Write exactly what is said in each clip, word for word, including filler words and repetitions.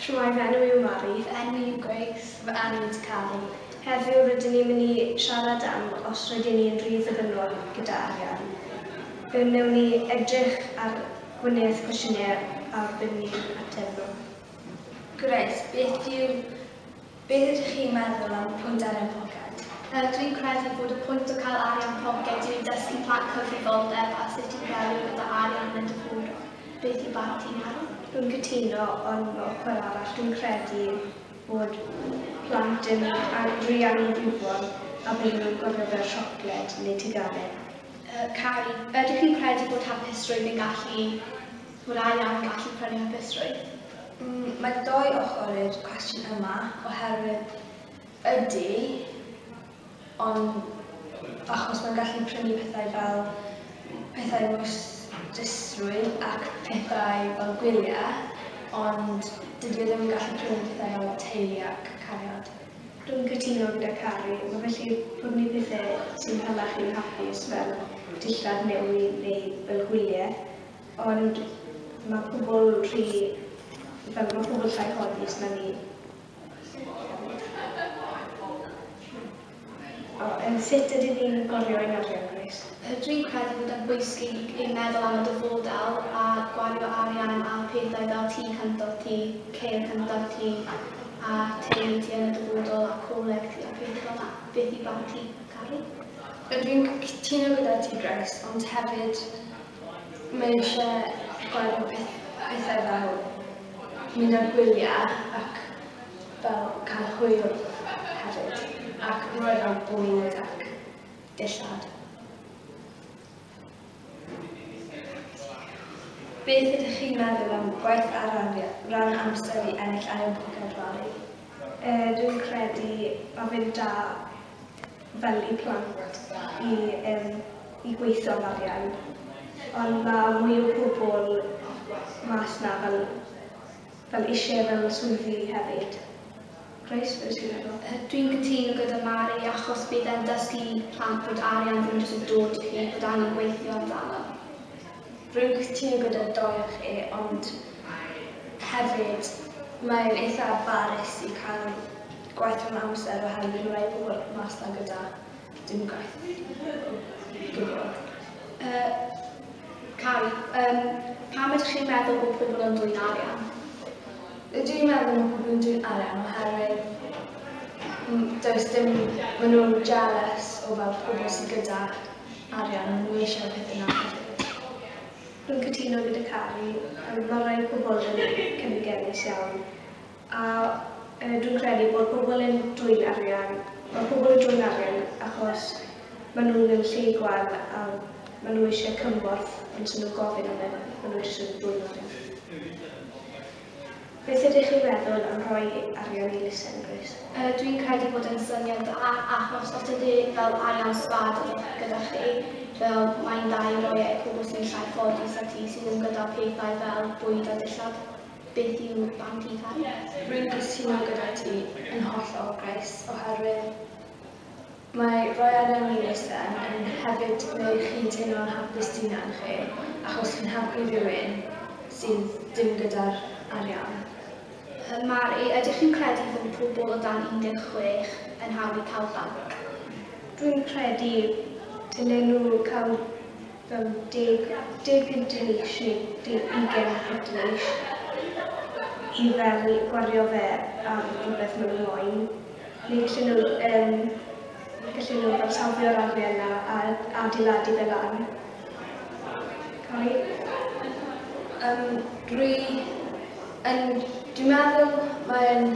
Shwmae, fy enw yw Mari. Fy enw yw Grace. Fy enw yw Cari. Heddiw rydyn ni'n mynd i siarad am os rydyn ni'n rhy ddibynnol gyda arian. Fe wnawn ni edrych ar gwneud cwestiynau a byddwn ni'n ateb nhw. Grace, beth yw, beth ydych chi'n meddwl am pwynt arian poced? Uh, dwi'n credu bod y pwynt o cael arian poced yw i dysgu plant cyfrifoldeb a sut i ddelio gyda arian yn y dyfodol. Beth yw barn ti, Mari? Dwi'n cytuno, ond mewn ochr arall dwi'n credu bod plant yn rhy anghyfrifol a bydden nhw'n gwario fel siocled neu teganau. Uh, Cari, ydych chi'n credu bod hapusrwydd yn gallu, bod arian yn gallu prynu hapusrwydd? Mm, mae dou ochr i'r cwestiwn yma, oherwydd ydy, ond achos mae'n gallu prynu pethau fel pethau moesdusrwydd ac pethau fel gwyliau, ond dydy o ddim yn gallu prynu pethau fel teulu ac cariad. Dwi'n cytuno gyda Cari. Mae felly prynu pethau sy'n hala chi'n hapus fel dillad newydd neu fel gwyliau, ond mae pobl rhy, fel mae pobl llai ffodus na ni. O, um, sut ydyn ni'n gwario ein arian, Grace? Dwi'n credu bod yn bwysig i meddwl am y dyfodol a gwario arian a pethau fel tŷ cyntaf ti, ceir cyntaf ti, a teulu ti yn y dyfodol a coleg ti a pethau fel 'na. Beth yw barn ti, Cari? Dwi'n cytuno gyda ti, Grace, ond hefyd mae eisiau gwario peth, pethau fel mynd ar gwyliau ac fel cael hwyl hefyd, ac rhoi fel bwyd ac dillad. Beth ydych chi'n meddwl am gwaith ar ran amser i ennill arian poced, Mari? Uh, dwi'n credu mae fe'n da fel i plant i, um, i gweithio am arian, ond mae mwy o pobl mas na fel, fel eisiau fel swyddi hefyd. Grace, beth ti'n meddwl? Dwi'n cytuno gyda Mari achos bydd e'n dysgu plant bod arian ddim jyst yn dod i chi, bod angen gweithio amdano. Rwy'n cytuno gyda dou o chi, ond hefyd mae'n eitha barus i cael gwaith rhan amser oherwydd mae rai pobl mas na gyda dim gwaith o gwbl. Uh, Cari, um, pam ydych chi'n meddwl bod pobl yn dwyn arian? Dwi'n meddwl bod pobl yn dwyn arian oherwydd does dim, maen nhw'n jealous o fel pobl sydd gyda arian, maen nhw eisiau pethau yna hefyd. Dwi'n cytuno gyda Cari, mae rai pobl yn cynigennus iawn, a e, dwi'n credu bod pobl yn dwyn arian, mae pobl yn dwyn arian achos maen nhw'n mewn lle gwael a maen nhw eisiau cymorth, ond sy'n nhw'n gofyn am e, maen nhw eisiau dwyn arian. Beth ydych chi'n meddwl am rhoi arian i elusen, Grace? Uh, dwi'n credu bod yn syniad dda, achos os ydy fel arian sbâd gyda chi, fel mae'n dda i roi e i pobl sy'n llai ffodus a ti sydd ddim gyda pethau fel bwyd a dillad. Beth yw barn ti, Cari? Rwy'n cytuno gyda ti yn hollol, Grace, oherwydd mae rhoi arian i elusen yn hefyd gwneud chi teimlo'n hapus hunan chi, achos chi'n helpu rhywun sydd dim gyda'r arian. Mari, ydych chi'n credu fod pobl o dan un deg chwech yn hawdd i cael banc? Dwi'n credu dylen nhw cael fel deg, deg punt yn eich neu deg ugain punt yn eich i fel gwario fe am rhywbeth maen nhw moyn. Neu gallen nhw, um, gallen nhw fel safio'r arian yna a adeiladu fe lan. Cari? Um, dwi yn, dwi'n meddwl mae'n...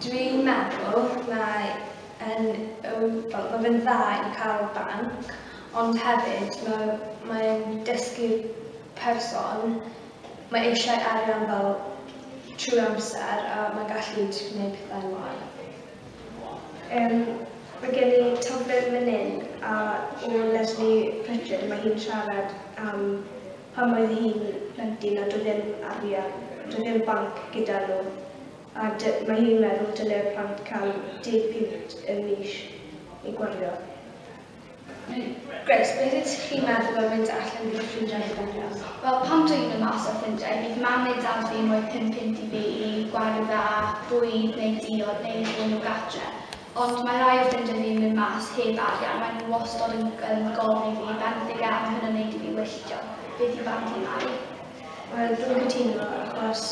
Dwi'n meddwl mae yn, fel, mae fe'n dda i cael banc, ond hefyd mae, mae'n dysgu'r person, mae eisiau arian fel trwy amser a mae'n gallu gwneud pethau'n wael. Um, mae gen i taflen fan hyn a o Leslie Pritchard, mae hi'n siarad am pan oedd hi'n plentyn a doedd ddim arian, doedd ddim banc gyda nhw. A mae hi'n meddwl dylai'r plant cael deg punt y mis i gwario. Grace, beth ydych chi'n meddwl am mynd allan gyda ffrindiau heb arian? Wel, pan dwi'n mynd mas â ffrindiau, bydd mam neu dad fi'n rhoi pum punt i fi i gwario fe ar bwyd neu diod neu ddod nhw gatre. Ond mae rai o ffrindiau fi'n mynd mas heb arian, maen nhw wastod yn, yn gofyn i fi benthyg e, a mae hynny'n neud i fi wylltio. Beth yw barn ti, Mari? Wel, dwi'n cytuno achos,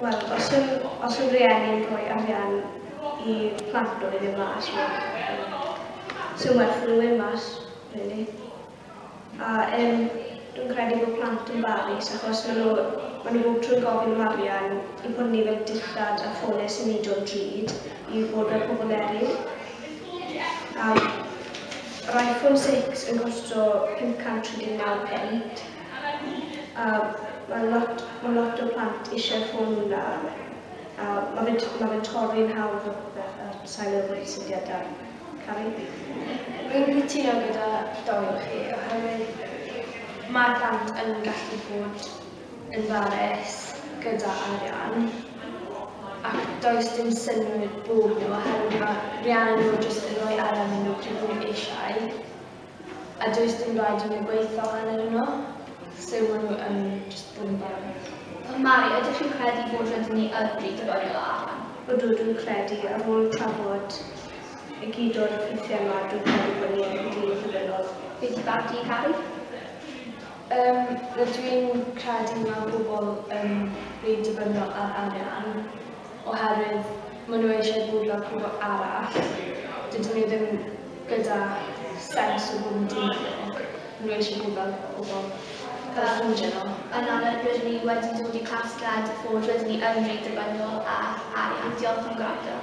wel, os yw, os yw rhieni'n rhoi arian i plant nhw i fynd mas, wel, sy'n werth nhw mynd mas, really. A um, dwi'n credu bod plant yn barus achos maen nhw, maen nhw bob tro'n gofyn am arian i prynu fel dillad a ffonau symudol drud i fod fel pobl eraill. A yr iPhone six yn costo pum cant tri deg naw punt. A mae lot, mae lot o plant eisiau'r ffôn hwnna. A mae fe'n ma fe'n torri'n hawdd o popeth a sa'n meddwl bod syniad da. Carrie? Rwy'n cytuno gyda dou o chi oherwydd mae plant yn gallu bod yn farus gyda arian ac does dim synnwyr bod nhw oherwydd mae rhieni nhw jyst yn rhoi arian i nhw pryd maen nhw eisiau a does dim rhaid i nhw gweithio arnyn nhw, so maen nhw yn jyst bod yn barus. Mari, ydych chi'n credu bod rydyn ni yn rhy ddibynnol ar arian? Ydw, dwi'n credu ar ôl trafod i gyd o'r ffeithiau yma, dwi'n credu bod ni yn rhy ddibynnol. Beth yw barn ti, Carrie? Um, rydw i'n credu mae pobl yn rhy dibynnol ar arian oherwydd maen nhw eisiau bod fel pobl arall. Dydyn nhw ddim gyda sens o bod yn ddibynnol. Maen nhw eisiau bod fel pobl fel ffrindiau nhw. Yna rydyn ni wedi dod i casgliad fod rydyn ni yn rhy ddibynnol ar arian. Diolch am gwrando.